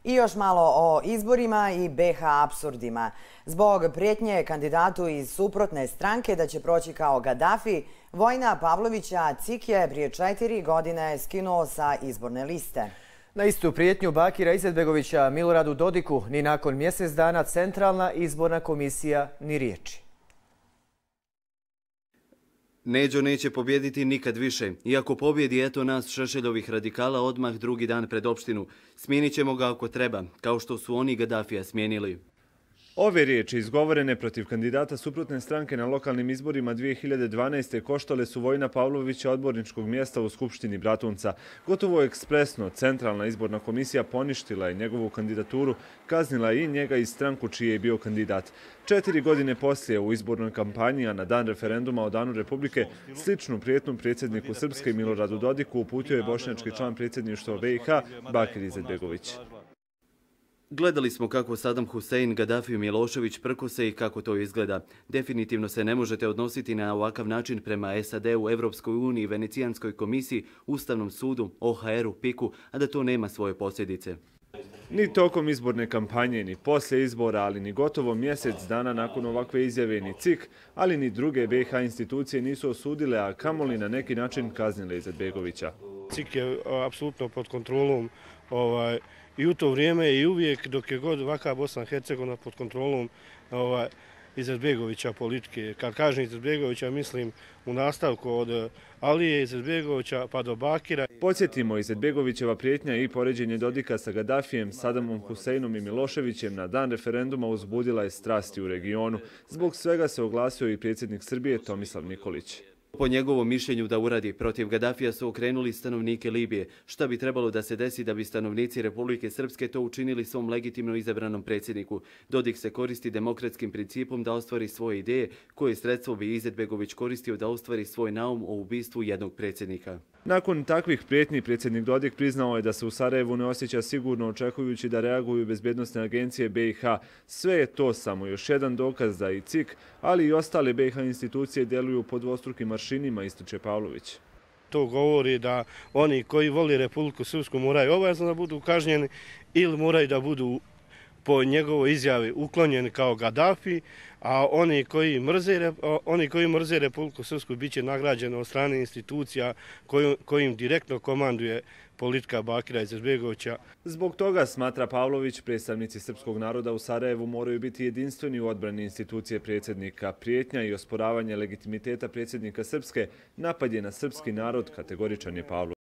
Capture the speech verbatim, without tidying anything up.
I još malo o izborima i be ha apsurdima. Zbog prijetnje kandidatu iz suprotne stranke da će proći kao Gadafi, Vojina Pavlovića Cik je prije četiri godine skinuo sa izborne liste. Na istu prijetnju Bakira Izetbegovića Miloradu Dodiku ni nakon mjesec dana Centralna izborna komisija ni riječi. Neđo neće pobjediti nikad više. Iako pobjedi eto nas Šešeljovih radikala odmah drugi dan pred opštinu. Smijenit ćemo ga ako treba, kao što su oni Gadafija smijenili. Ove riječi izgovorene protiv kandidata suprotne stranke na lokalnim izborima dvije hiljade dvanaeste. koštale su Vojina Pavlovića odborničkog mjesta u Skupštini Bratunca. Gotovo ekspresno Centralna izborna komisija poništila je njegovu kandidaturu, kaznila i njega i stranku čiji je bio kandidat. Četiri godine poslije u izbornoj kampanji, a na dan referenduma o Danu Republike, sličnu prijetnju predsjedniku Srpske Miloradu Dodiku uputio je bošnjački član predsjedništva be i ha Bakir Izetbegović. Gledali smo kako Sadam Husein, Gadafi i Milošević prkose i kako to izgleda. Definitivno se ne možete odnositi na ovakav način prema es a de u, Evropskoj uniji, Venecijanskoj komisiji, Ustavnom sudu, o ha er u, piku, a da to nema svoje posljedice. Ni tokom izborne kampanje, ni poslije izbora, ali ni gotovo mjesec dana nakon ovakve izjave ni Cik, ali ni druge be i ha institucije nisu osudile, a kamoli na neki način kaznile Izetbegovića. Cik je apsolutno pod kontrolom ovaj, i u to vrijeme i uvijek dok je god ovakva Bosna i Hercegovina pod kontrolom ovaj, Izetbegovića politike. Kad kažem Izetbegovića, mislim u nastavku od Alije Izetbegovića pa do Bakira. Podsjetimo, Izetbegovićeva prijetnja i poređenje Dodika sa Gadafijem, Sadamom Huseinom i Miloševićem na dan referenduma uzbudila je strasti u regionu. Zbog svega se oglasio i predsjednik Srbije Tomislav Nikolić. Po njegovom mišljenju da uradi protiv Gadafija su okrenuli stanovnike Libije. Šta bi trebalo da se desi da bi stanovnici Republike Srpske to učinili svom legitimno izabranom predsjedniku? Dodik se koristi demokratskim principom da ostvari svoje ideje, koje sredstvo bi Izetbegović koristio da ostvari svoj naum o ubistvu jednog predsjednika. Nakon takvih prijetnji, predsjednik Dodik priznao je da se u Sarajevu ne osjeća sigurno, očekujući da reaguju bezbjednosne agencije be i ha. Sve je to samo još jedan dokaz da i Cik, ali i ostale be i ha institucije djeluju pod dvostrukim aršinima, ističe Pavlović. To govori da oni koji voli Republiku Srpsku moraju obavezno da budu kažnjeni ili moraju da budu po njegovoj izjavi uklonjeni kao Gadafi, a oni koji mrze, oni koji mrze Republiku Srpsku bit će nagrađeni od strane institucija kojim direktno komanduje politika Bakira Izetbegovića. Zbog toga, smatra Pavlović, predstavnici srpskog naroda u Sarajevu moraju biti jedinstveni u odbrani institucije predsjednika. Prijetnja i osporavanje legitimiteta predsjednika Srpske napad je na srpski narod, kategoričan je Pavlović.